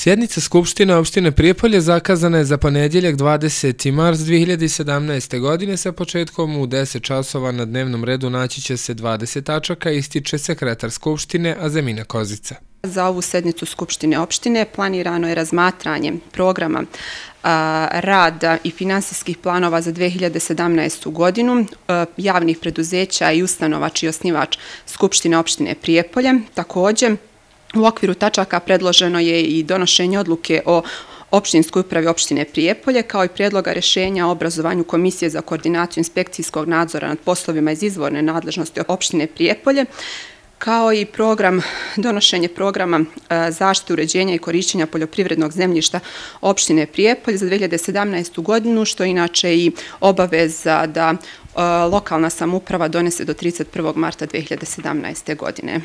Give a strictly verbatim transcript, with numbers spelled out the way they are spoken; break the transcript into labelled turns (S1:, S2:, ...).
S1: Sjednica Skupštine opštine Prijepolje zakazana je za ponedjeljak dvadeseti mart dvije hiljade sedamnaeste. godine sa početkom u deset časova. Na dnevnom redu naći će se dvadeset tačaka, ističe sekretar Skupštine Azemina Kozica.
S2: Za ovu sednicu Skupštine opštine planirano je razmatranje programa rada i finansijskih planova za dvije hiljade sedamnaestu. godinu javnih preduzeća i ustanova čiji je osnivač Skupštine opštine Prijepolje. Također, u okviru tačaka predloženo je i donošenje odluke o opštinskoj upravi opštine Prijepolje, kao i prijedloga rješenja o obrazovanju Komisije za koordinaciju inspekcijskog nadzora nad poslovima iz izvorne nadležnosti opštine Prijepolje, kao i program, donošenje programa zaštite, uređenja i korišćenja poljoprivrednog zemljišta opštine Prijepolje za dvije hiljade sedamnaestu. godinu, što je inače i obaveza da lokalna samouprava donese do trideset prvog marta dvije hiljade sedamnaeste. godine.